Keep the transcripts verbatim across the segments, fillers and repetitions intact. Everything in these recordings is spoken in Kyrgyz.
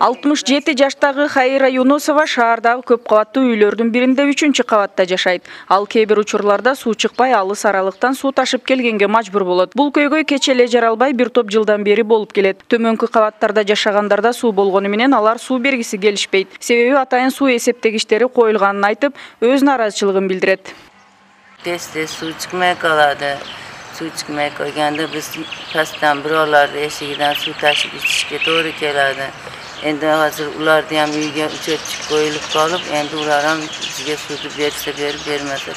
алтымыш жети жаштагы Хайра Юнусова шаардагы көп кабаттуу үйлөрдүн биринде үчүнчү кабатта жашайт. Ал кээ бир учурларда суу чыкпай, алыс аралыктан суу ташып келгенге мажбур болот. Бул көйгөй кече эле жаралбай бир топ жылдан бери болуп келет. Төмөнкү кабаттарда жашагандарда суу болгону менен алар суу бергиси келишпейт. Себеби атайын суу эсептегичтери коюлганын айтып, өз нааразычылыгын билдирет. Тез-тез суу чыкмай калады. Суу чыкмай койгондо биз пастан бирөөлөрдү эшигинен суу ташып ичишке туура келadi. Endi hazır ular da ham uyga uchotchik qo'yilib qolib, endi ular ham bizga suvni bersa berib, bermasa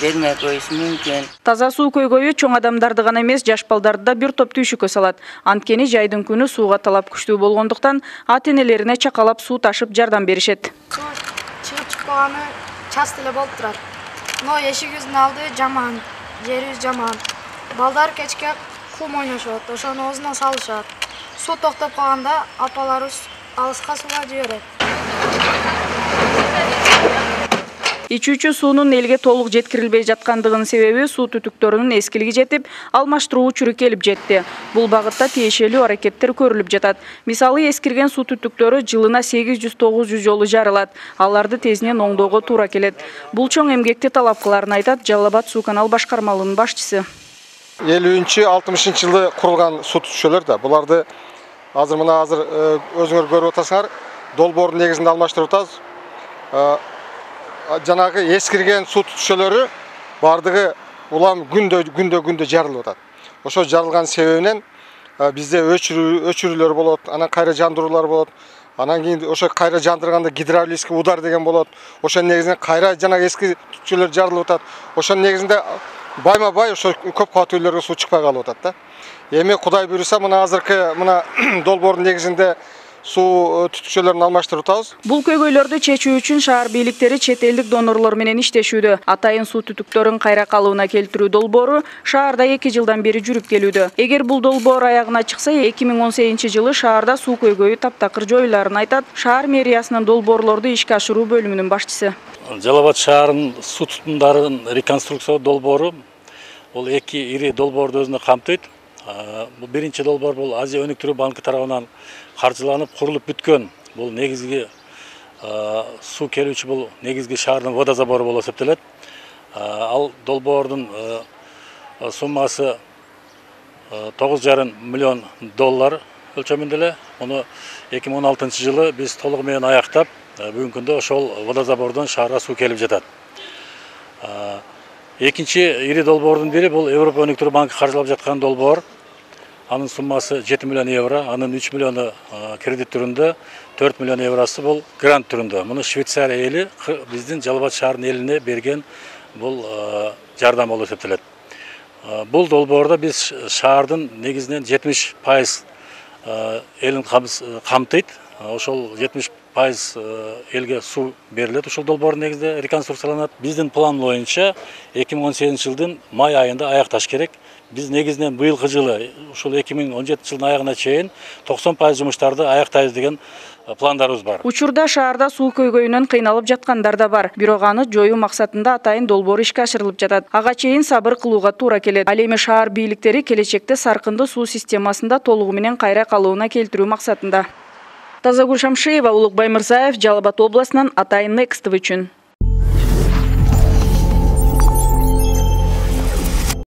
bermay qo'yishi mumkin. Таза суу көйгөйү чоң адамдарды гана эмес, жаш балдарды да бир топ түйшүккө салат. Анткени жайдын күнү сууга талап күчтүү болгондуктан ата-энелерине чакалап суу ташып жардам беришет. Суу чыгып чыкпаганы часто эле болуп турат. Но эшигибиздин алды жаман, жерибиз жаман. Балдар кечке кум ойношот, ошону оозуна салышат. Суу токтоп калганда апаларыбыз алыска сууга жиберет. Ичүүчү суунун элге толук жеткирилбей жаткандыгынын себеби суу түтүктөрүнүн эскилиги жетип, алмаштыруу учуру келип жетти. Бул багытта тиешелүү аракеттер көрүлүп жатат. Мисалы, эскирген суу түтүктөрү жылына сегиз жүз тогуз жүз жолу жарылат. Аларды тезинен оңдоого туура келет. Бул чоң эмгекти талап кыларын айтат Жалал Абад суу канал башкармалыгынын башчысы. элүүнчү алтымышынчы жылы курулган суу түтүкчөлөр да буларды азыр мына азыр өзүңөр көрүп атасыңар, долбоордун негизинде алмаштырып атабыз. Жанагы эскирген суу түтүкчөлөрү бардыгы улам күндө күндө күндө жарылып атат. Ошо жарылган себебинен бизде өчүрүү өчүрүүлөр болот, анан кайра жандыруулар болот. Анан кийин ошо кайра жандырганда гидравлический удар деген болот. Ошонун негизинен кайра жанагы эски түтүкчөлөр жарылып атат. Ошонун негизинде байма-бай ошо көп кабаттуу үйлөргө суу чыкпай калып атат да. Эми Кудай буйруса мына азыркы мына долбоордун негизинде суу түтүкчөлөрүн алмаштырып атабыз. Бул көйгөйлөрдү чечүү үчүн шаар бийликтери чет элдик донорлор менен иштешүүдө. Атайын суу түтүктөрүн кайра калыбына келтирүү долбоору шаарда эки жылдан бери жүрүп келүүдө. Эгер бул долбоор аягына чыкса, эки миң он сегизинчи жылы шаарда суу көйгөйү таптакыр жоюларын айтат шаар мэриясынын долбоорлорду ишке ашыруу бөлүмүнүн башчысы. Жалал Абад шаарынын суу тутумдарын реконструкциялоо долбоору бул эки ири долбоорду өзүнө камтыйт. Бул биринчи долбоор бул Азия өнүктүрүү банкы тарабынан каржыланып курулуп бүткөн. Бул негизги суу келүүчү бул негизги шаардын водозабору болуп эсептелет. Ал долбоордун суммасы тогуз жарым миллион доллар өлчөмүндө эле. Муну эки миң он алтынчы жылы биз толугу менен аяктап, бүгүнкү күндө ошол водозабордон шаарга суу келип жатат. Экинчи ири долбоордун бири бул Европа өнүктүрүү банкы каржылап жаткан долбоор. Анын суммасы жети миллион евро, анын үч миллиону кредит түрүндө, төрт миллион евросу бул грант түрүндө. Муну Швейцария эли биздин Жалал Абад шаарынын элине берген бул жардам болуп эсептелет. Бул долбоордо биз шаардын негизинен жетимиш пайыз элин камтыйт. Ошол жетимиш пайыз элге суу берилет. Ушул долбоордун негизинде реконструкцияланат. Биздин план боюнча эки миң он сегизинчи жылдын май айында аякташ керек. Биз негизинен быйылкы жылы ушул эки миң он жетинчи жылдын аягына чейин токсон пайыз жумуштарды аяктайбыз деген пландарыбыз бар. Учурда шаарда суу көйгөйүнөн кыйналып жаткандар да бар. Бирок аны жоюу максатында атайын долбоор ишке ашырылып жатат. Ага чейин сабыр кылууга туура келет. Ал эми шаар бийликтери келечекте саркынды суу системасында толугу менен кайра калыбына келтирүү максатында. Тазагүл Шамшиева, Улукбай Мырзаев, Жалал Абад областынан, Атайын Next үчүн.